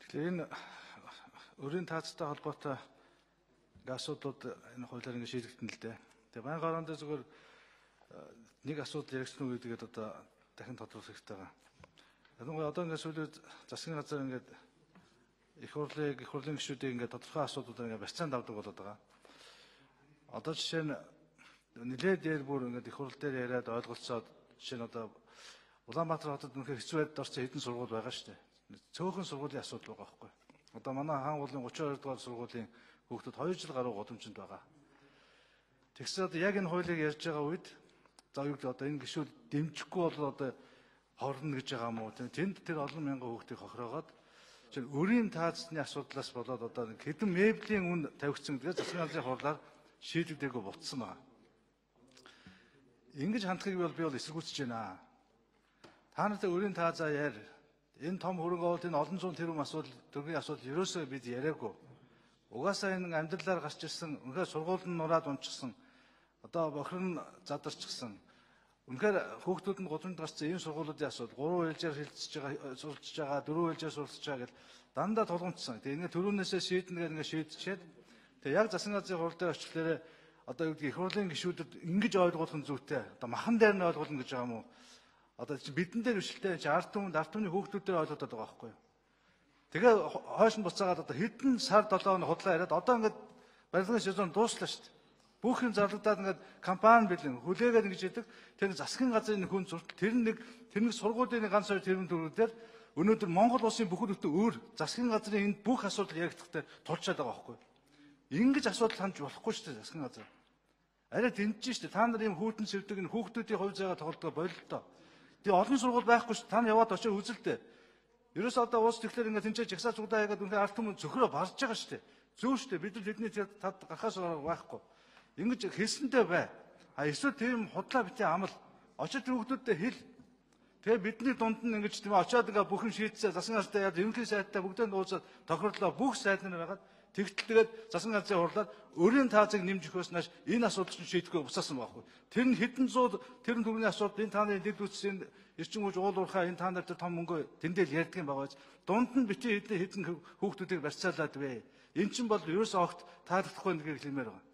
Энэ өрийн таацтай холбоотой асуудлууд энэ хуулиар ингэ шийдэгдэн л дээ. Тэгээ байнга орондоо зүгээр нэг асуудал яригдсан үү гэдгээд одоо дахин тодруулах хэрэгтэй байгаа. Ялангуяа одоо ингэ сүүлийн засгийн газар ингэ их хурлын гишүүдийг ингэ тодорхой асуудлуудаар ингэ барьцаанд авдаг болоод байгаа. Одоо жишээ нь нэлээд дээр бүр ингэ их хурл дээр яриад ойлголцоод жишээ нь одоо Улаанбаатар хотод үнэхээр хэцүү байдалд орсон хэдэн сургууль байгаа шүү дээ. Цөөхөн сургуулийн асуудал байгаа байхгүй. Одоо манай хаан уулын 32 дугаар сургуулийн хүүхдүүд 2 жил гаруй годомжинд байгаа. Тэгсэн одоо яг энэ хуулийг ярьж байгаа үед за юу гэдэг одоо энэ гишүүд дэмжихгүй бол одоо хорно гэж байгаа юм уу? Тэнд тэр олон мянган хүүхдийг хохироогоод чинь өрийн таацны асуудлаас болоод одоо хэдэн меблийн үн тавигдсан гэдгээ засгийн газрын хурлаар шийдэгдээгүй болцсон байна. Ингэж хандхыг би бол эсэргүүцэж байна. Та нартай өрийн таазаа яар. Энэ том хөрөнгө оруулалт энэ олон зуун тэрбум төгрөгийн асуудал ерөөсөө бид яриаггүй. Угаасаа энэ амьдралаар гарч ирсэн, үнэхээр сургууль нь нураад унчихсан, одоо бохир нь задарчихсан. Үнэхээр хүүхдүүд нь гудамж гарсан ийм сургуулиудын асуудал 3 ээлжээр суралцж байгаа, 4 ээлжээр суралцж байгаа гэж дандаа тулгамдсан. Тэгээ ингээ төрүүнээсээ шийднэ гэдэг ингээ шийдчихэд тэгээ яг засгийн газрын хурал дээр очихлаарэ одоо юу гэдгийг их хурлын гишүүдэд ингэж ойлгуулах нь зүйтэй. Одоо махан дээр нь ойлгуулна гэж байгаа юм уу? Одоо бидэн дээр биш л те ард түмний хүүхдүүд дээр ойлгоод байгаа байхгүй юу. Тэгээ хойш нь буцаагаад одоо хэдэн сар 7 хоног худлаа яриад одоо ингээд барилгын сезон дууслаа шүү дээ. Бүх юм зарлагдаад ингээд компани бэлэн хүлээгээд ингэж яадаг. Тэр засгийн газрын хүн зуртал тэр нэг сургуулийн ганц хоёр тэрбум төгрөгөөр өнөөдөр Монгол улсын бүхэл бүтэн өөр засгийн газрын энд бүх асуудал яригдахдаа тулчаад байгаа байхгүй юу. Ингэж асуудал хандж болохгүй шүү дээ засгийн газар. Арай дэмжиж шүү дээ. Та нар ийм хүүтэн сэвдэг энэ хүүхдүүдийн хувь заяага тоглодог бололтой. Тэгээ олон сургууль байхгүй шүү. Та нар яваад очиж үзэлтэй. Ерөөс одоо уус тэгэхээр ингээд тэнцээ жагсаа цугдаа яагаад үнээр ард түмэн цөхрөө барж байгаа шүү дээ. Зөө шүү дээ. Бид нар тэдний тад гарахаас байхгүй. Ингэж хэлсэнтэй бай. Эсвэл тийм худлаа битээ амал очиж хүүхдүүдтэй хэл. Тэгээ бидний дунд нь ингэж тийм очиод ингээ бүх юм шийдсээ засгийн газраа яад ерөнхий сайдтай бүгдээ нууцаад тохирлоо бүх сайд нар байгаад тэгтэл тэгээд засгийн газрын хурлаар өрийн таазыг нэмж өгөхөөс нааш энэ асуудал чинь шийдэхгүй буцаасан байхгүй. Тэр нь хэдэн зуун тэрэн төрний асуудал энэ тааны дэд үтсийн эрчим хүч уул уурхай энэ та нар тэр том мөнгө тэндэл ярьдаг юм байгаа. Дунд нь битээ хэдэн хүүхдүүдийг барьцаалаад вэ. Эн чинь бол ерөөсөө огт таалагдахгүй нэг хэлмээр байгаа.